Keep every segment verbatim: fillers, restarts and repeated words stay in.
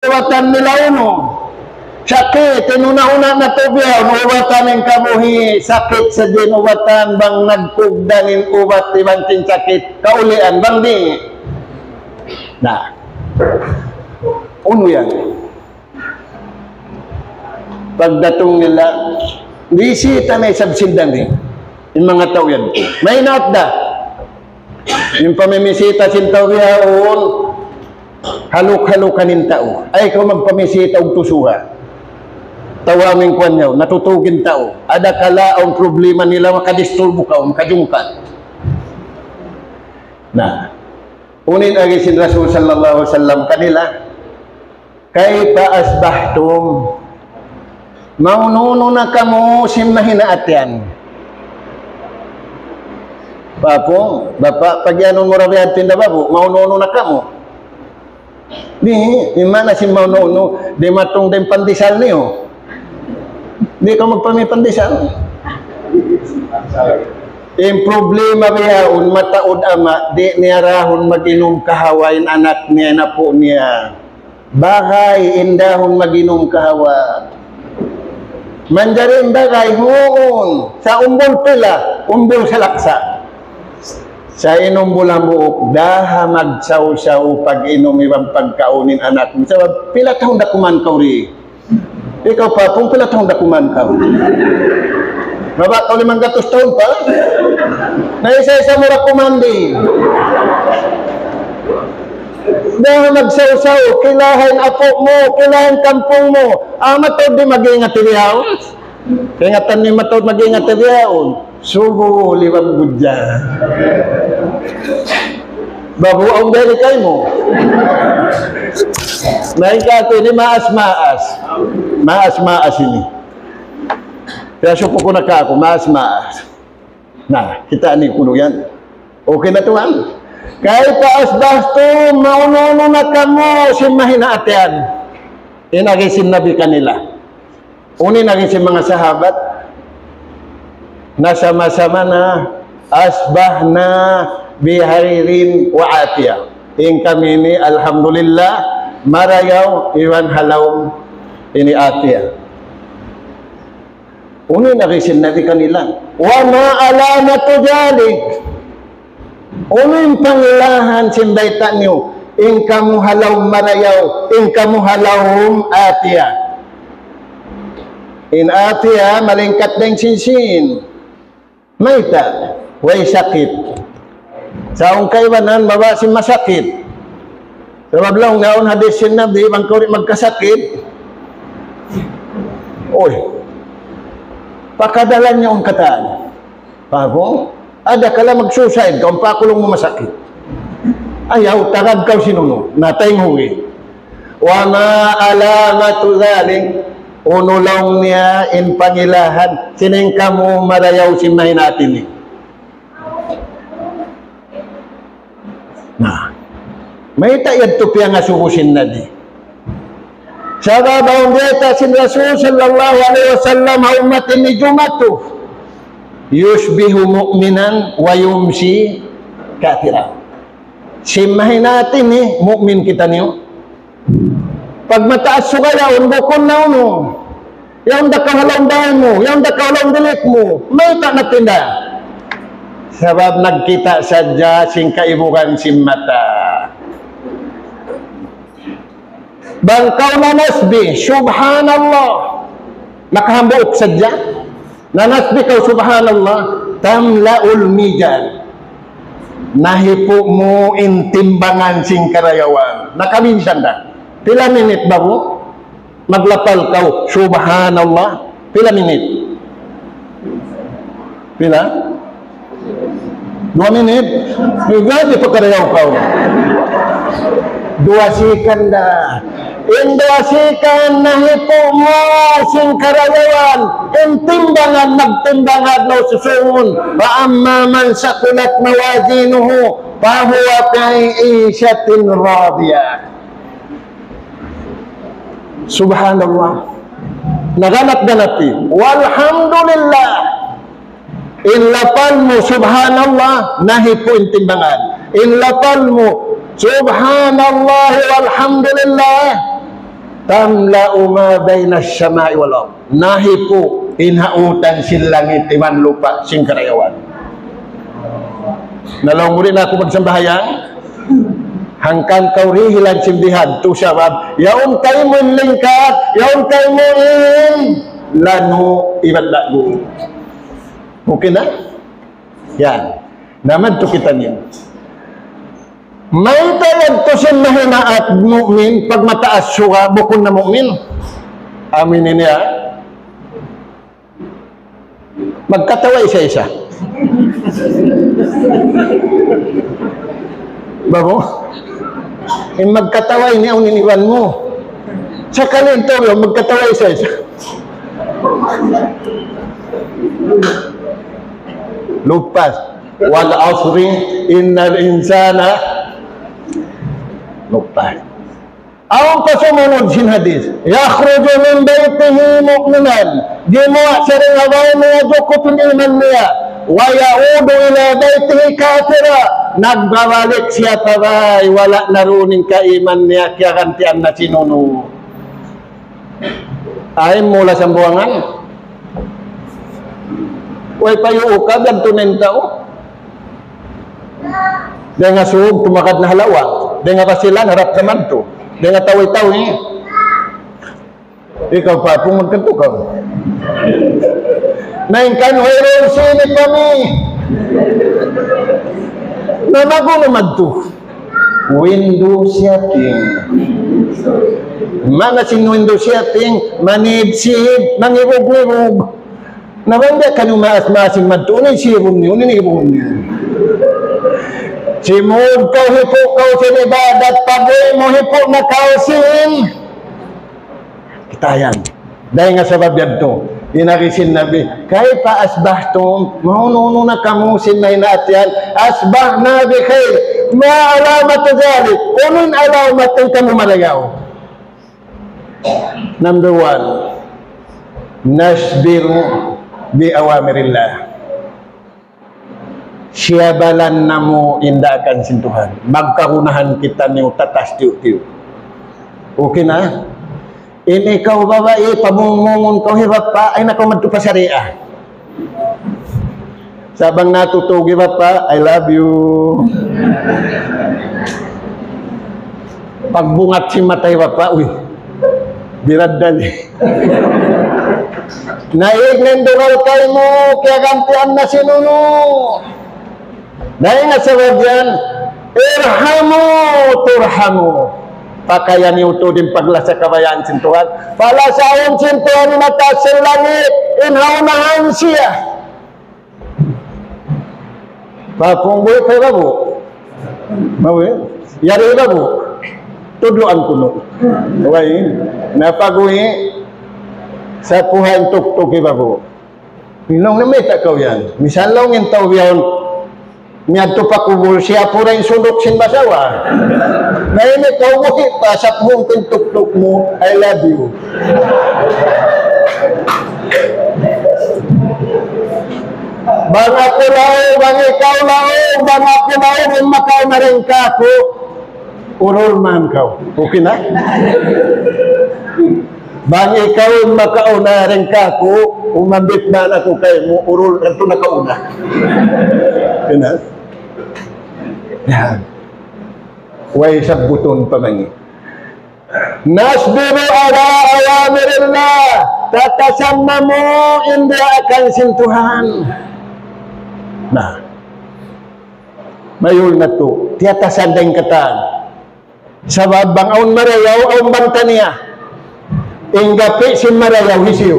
ubatan nila unu. Sakit, in una-una natu' biya', ubatan in kabuhi', sakit sadja in ubatan, bang nagkugdan in ubat iban sin sakit, kaulian, bang di'. Na. Unu yan? Pagdatung nila, bisita na isab sin dangin. In manga tau yan. Maynaat da. In pamimisita sin tau yaun, haluk-halukan in tau. Ay, kaw magpamisita ug tusuha. Tau amin kuwan yaun, natutug in tau. Adakala awn problema nila, makadisturbu kaw, makajungkat. Na, unu in agi sin Rasul sallallahu alayhi wasallam kanila, "Kayfa asbahtum?" Maunu-unu na kamu sin mahinaat yan? Bapu, bapa', pagiyanun mu ra biya' tinda babu, maunu-unu na kamu? Di', in maana sin maunu-unu, dimatung da in pandesal niyu. Di' kaw magpamipandesal. In problema bihaun, mataud ama', di' niya dahun mag-inum kahawa in anak niya, in apu' niya. Bagay in dahun mag-inum kahawa. Manjari in bagay, huun. Sa' umbul pila, umbul salaksa. Sa' in umbul hambuuk, daha magsawsaw pag-inum iban pagkaun in anak mu. Sabab, pila tahun da kuman kaw di? Ikaw pa, kung pila tahun da kuman kaw? Mabaya' kaw limanggatus tahun pa? Na isa-isa mu ra kuman di. Daha magsawsaw, kilaha in apu' mu, kilaha in kampung mu. Amu tuud di' mag-ingat in yaun. Kaingatan niyu mataud mag-ingat in yaun. Subu liwag budja. Babu, awn diri kaymu. Na in katu' ini maas-maas. Maas-maas ini. Kaya suku ku na kaku', maas-maas. Na, kita' niyu kunu' yan. Okay na tuwan. Kayfa asbahtum, maunu-unu na kamu sin mahinaat yan? In agi sin Nabi kanila. Unu in agi sin manga sahabat? Na sama-sama na, asbahna bi khairin wa afiyah. In kami ini, alhamdulillah, marayaw iban ha lawm ini afiyah. Unu in agi sin Nabi kanila? Wa ma alamatu dhalik? Unu in pangilahan sin bayta' niyu? In kamu ha lawm marayaw, in kamu ha lawm afiyah. In afiyah, malingkat dayn sin sin. Mayta'? Way sakit. Sa' awn kaibanan, mabaya' sin masakit. Sabab laung niya awn hadis sin Nabi, bang kaw di' magkasakit, uy, pakadalan niya awn katan. Paham? Adakala mag-suicide kaw, pakulung mu masakit. Ayaw, tagad kaw sin unu, na taymanghud. Wa ma alamatu dhalik, unu laung niya in pangilahan, sin in kamu marayaw sin mahinaat ini. Na, mayta' yadtu piyangasubu sin Nabi? Sabab awn bayta' sin Rasul sallallahu alayhi wasallam ha ummat ini jumatu, "Yusbihu mu'minan wa yumsi kafira." Sin mahinaat ini, mu'min kitaniyu. Pag mataas suga yaun, bukun na unu. Yaun da kaw ha lawm bay mu, yaun da kaw ha lawm bilik mu. Mayta' na tinda? Sabab nagkita' sadja sin kaibugan sin mata. Bang kaw nanasbih, subhanallah. Nakahambuuk sadja. Nanasbih kaw, subhanallah, tamla'ul mizan. Nahipu' mu in timbangan sin karayawan. Nakaminsan da. Pila minit baru maglapal kaw, subhanallah? Pila minit? Pila? Duwa minit? Duwa, di' pa karayaw kaw. Duwa sikan da. In duwa sikan nahipu' mu sin karayawan, in timbangan, magtimbang adlaw susungun. Fa amma man saqulat mawazinuhu, fa huwa fi 'ishatin radiyah. Subhanallah. Naganap-ganap in. Walhamdulillah. In lapal mu, subhanallah, nahipu' in timbangan. In lapal mu, subhanallah, walhamdulillah, تملأ ما بين السماء والأرض. Nahipu' in ha utan sin langit iban lupa' sin karayawan. Na laung mu di' na aku magsambahayang, hangkan kaw dihilan sin bihadtu sabab, yaun kaymu in lingkat, yaun kaymu in lanu' iban laggu'. Okay na? Yan. Na madtu kitaniyu. Mayta' yadtu sin mahinaat mu'min, pagmataas suga, bukun na mu'min. Amin ini, ha? Magkatawa isa-isa. Babu? In magkatawa ini, awn in iban mu. Sakali in tau, magkatawa isa-isa. Lupas. والعصر إن الإنسان, lupas. Awn pa sumunud sin hadith. يخرج من بيته مؤمنا. Gimuwa' siya dayn ha bāy niya jukup in iman niya. ويعود إلى بيته كافرا. Nagbabalik siya pa bāy, wala' na duun in kaiman niya, kiyagantian na sin unu. Ay, mula sambuwangan. Way pa yu'u ka, gantu na in tau. Dayn ha Sug, tumakad na ha lawang. Dayn ha Basilan, harap naman tu. Dayn ha Tawi-Tawi. Ikaw pa, pung magkantu ka. Na in kan, wayruun sini kami. Na magu naman tu. Window shopping. Mana sin window shopping, manibsib, mangibug-ngibug. Na bang di' kaniyu maas-maas in madtu, unu in sibun niyu, unu in ibun niyu. Simud kaw, hipu' kaw sin ibadat, pag-uwi' mu, hipu' na kaw sin kitayan. Dayn ha sabab yadtu, in agi sin Nabi, كيف أصبحتم? Mahunu-hunu na kamu sin nahinaat yan? أصبحنا بخير. ما علامة ذلك؟ Unu in alamat in kamu marayaw? Number one, نصبر بأوامر الله. Siyabalan namu' in daakan sin Tuhan. Magkagunahan kitaniyu tatas tiyu'-tiyu'. Okay na? In ikaw babai, pamungmungun kaw hi bapa', ayaw na kaw madtu pa sariya. Sa' bang natutug hi bapa', "I love you." Pagbungat sin mata hi bapa', uy. Biraddal. Naig na in dugal kaymu, kiyagantian na sin unu. Dayn ha sabab yan, ارحموا ترحموا. Pakaya niyu tuud in paglasa kabayaan sin Tuhan. Palasaun sin Tuhan in ha taas sin langit, in ha unahan siya. Papungguy pa babu. Mawi, yari babu. Tudluan kunu'. Way, na pag-uwi', sapuhan tuktuk hi babu. Laung niya, "Mayta' kaw yan?" Misan laung in tau biyaun, miyadtu pa kubul, siya pura in sunduk sin basawa. Na ini kaw buhi' pa, sapuhun ku in tuktuk mu, "I love you." Bang aku laung, bang ikaw laung, bang aku laung, in makauna dayn kāku', urul man kaw. Okay na? Bang ikaw in makauna dayn kāku', umambit man aku kaymu, urul, yadtu nakauna. Okay na? Yan. Way sabbutun pa mangi'. نصبر على أوامر الله. Tiyatasan namu' in daakan sin Tuhan. Na. Mayul na tu. Tiyatasan dayn katan. Sabab bang awn marayaw, awn banta niya. In gapi' sin marayaw hisiyu?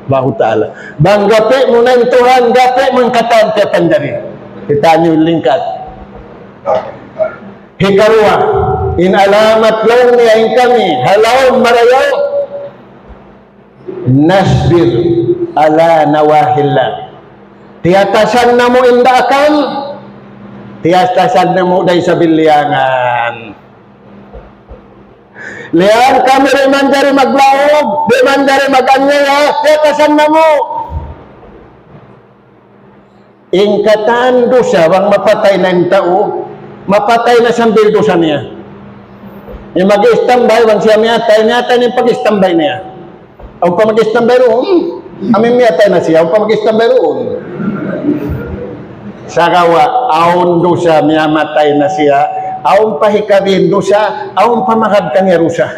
Allahu Ta'ala. Bang gapi' mu na in Tuhan, gapi' mu in katan tiyapanjari. Kitaniyu in lingkat. Hikaruwa, in alamat laung niya in kami, ha lawm marayaw. نصبر على نواهي الله. Tiyatasan namu' in daakan, tiyatasan namu' dayn ha sabilliyangan. Liyan kami di' manjari maglaug, di' manjari mag-anyaya, tiyatasan namu'. In katan dusa, bang mapatay na in tau, mapatay na sambil dusa niya. In mag-istambay, bang siya miyatay, miyatay na in pag-istambay niya. Awn pa mag-istambay duun. Amu in miyatay na siya, awn pa mag-istambay duun. Sagawa', awn dusa, miyamatay na siya. Awn pa hikabin dusa, awn pa magad kaniya dusa.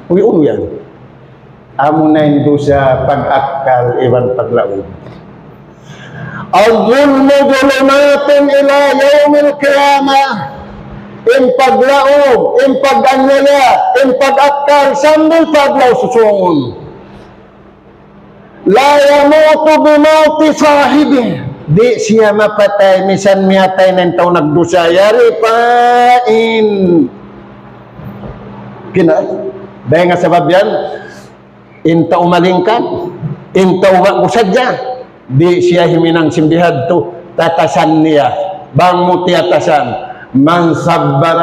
Uy, unu yan? Amuna in dusa pag-akkal iban paglaum. الظلم ظلمات إلى يوم القيامة. In paglaum, in pag-anyaya, in pag-akkal, sambil pa adlaw susūngun. لا يموت بموت صاحبه. Di' siya mapatay, misan miyatay na in tau nagdusa. Yari pa in. Kina, dayn ha sabab yan, in tau malingkat, in tau ba'gu sadja, di' siya himinang sin bihadtu, tatasan niya. Bang mu tiyatasan, من صبر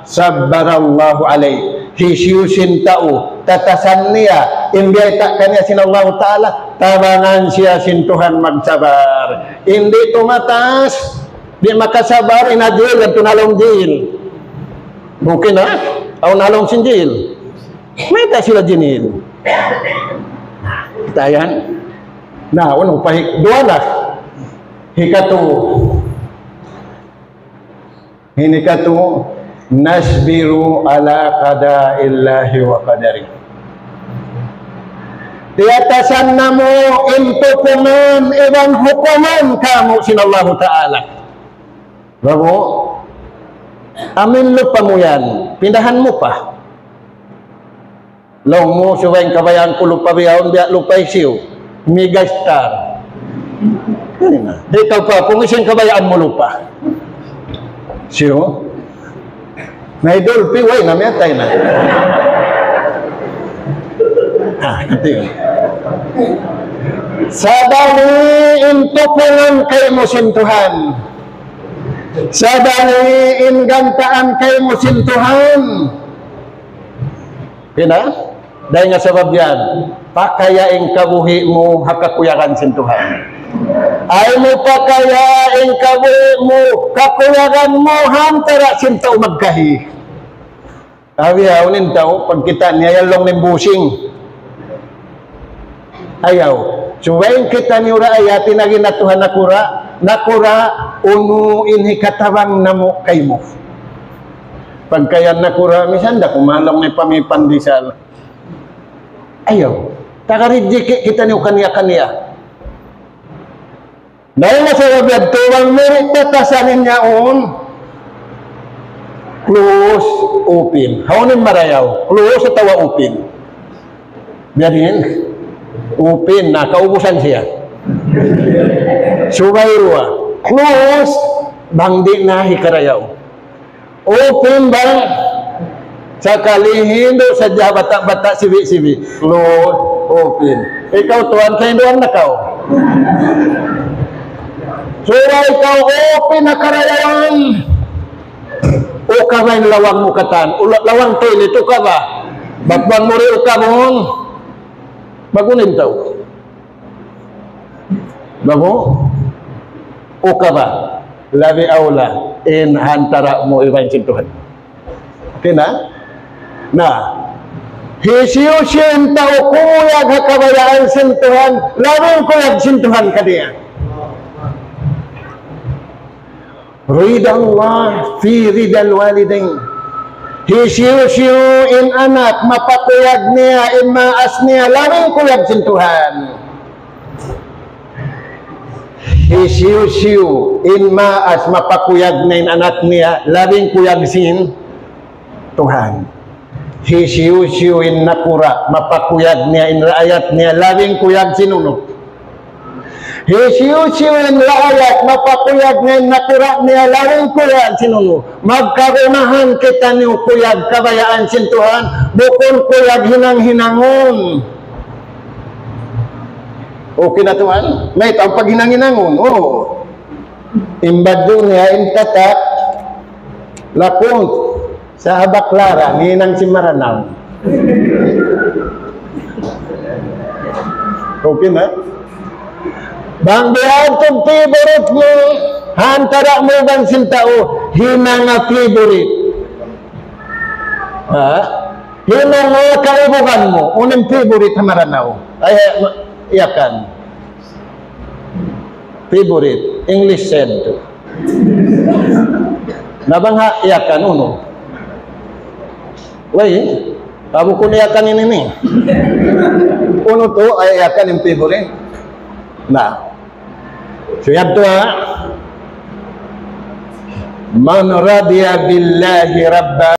صبر الله عليه. Hisiyu-siyu in tau, tatasan niya, in biyayta' kaniya sin Allahu Ta'ala, tabangan siya sin Tuhan magsabar. In di' tumatas, di' makasabar, in ha jail, yadtu na ha lawm jail. Okay na? Awn ha lawm sin jail. Mayta' sila jinil. Tayan. Na, unu pa hi-, duwa na. Hikatu. Ini katu, نصبر على قضاء الله وقدره. Tiyatasan namu' in tupungan iban hukuman kamu' sin Allahu Ta'ala. Babu, amin lupa mu yan, pindahan mu pa. Laung mu, subay in kabayaan ku lupa bihaun, biya' lupa hisiyu. Megastar. Yan na. Ikaw pa, kung hisiyu in kabayaan mu lupa. Hisiyu? Na idol, piway na, miyatay na. Ah, ito yun. Sabali in tupungan kaymu sin Tuhan. Sabali in gantaan kaymu sin Tuhan. Kina? Dayn ha sabab yan, pakaya in kabuhi' mu ha kakuyagan sin Tuhan. Ayaw mu pakaya in kabuhi' mu, kakuyagan mu, ha antara' sin tau magkahi. Abi, awn in tau, pagkita' niya, yan laung niya busing. Ayaw. Subay in kitaniyu ra, ayaw, tinagi na Tuhan nakura', nakura', unu in hikatabang namu' kaymu. Pagka yan nakura', misan da kuman laung niya pamipandisal. Ayaw. Tagarijiki' kitaniyu kaniya-kaniya. Dayn ha sabab yadtu bang mu di' batasan in yaun, close, open. Hawnu in marayaw? Close atawa open? Biya' diin? Open na, kaubusan siya. Subay duwa. Close, bang di' na hikarayaw. Open ba? Sakali hindu' sadja bata'-bata' sibi'-sibi'. Close, open. Ikaw tuwan, kahinduan na kaw. Sura ikaw open na karayawan. Ukaba in lawang mu katan. Ula-, lawang toilet, ukaba. Bat bang mu di' ukabun. Magunin tau. Babu? Ukaba. Labi awla in ha antara' mu iban sin Tuhan. Okay na? Na, hisiyu-siyu in tau kumuyag ha kabayaan sin Tuhan, labi in kuyag sin Tuhan kaniya. رضا الله في رضا الوالدين. Hisiyu-siyu in anak mapakuyag niya in maas niya, labi in kuyag sin Tuhan. Hisiyu-siyu in maas mapakuyag niya in anak niya, labi in kuyag sin Tuhan. Hisiyu-siyu in nakura', mapakuyag niya in raayat niya, labi in kuyag sin unu. Hisiyu-siyu in raayat, mapakuyag niya in nakura' niya, labi in kuyag sin unu. Magkagunahan kitaniyu kuyag kabayaan sin Tuhan, bukun kuyag hinang-hinangun. Okay na tuwan? Mayta' in paghinang-hinangun? Oo. In badju' niya, in tatak, lakun, sa' ha Baclaran, hinang sin Maranao. Okay na? Bang biya' ha yan in favorite mu, ha antara' mu iban sin tau, hinanga favorite. Ha? Hinang mu kaibugan mu, unu in favorite ha Maranao? Ay, ma-, Yakan. Favorite, English said. Na bang ha Yakan, unu? Way, abu ku na Yakan ini ni. Unu tu, ay Yakan in favorite. Na. So, yadtu ha. من رضي بالله ربا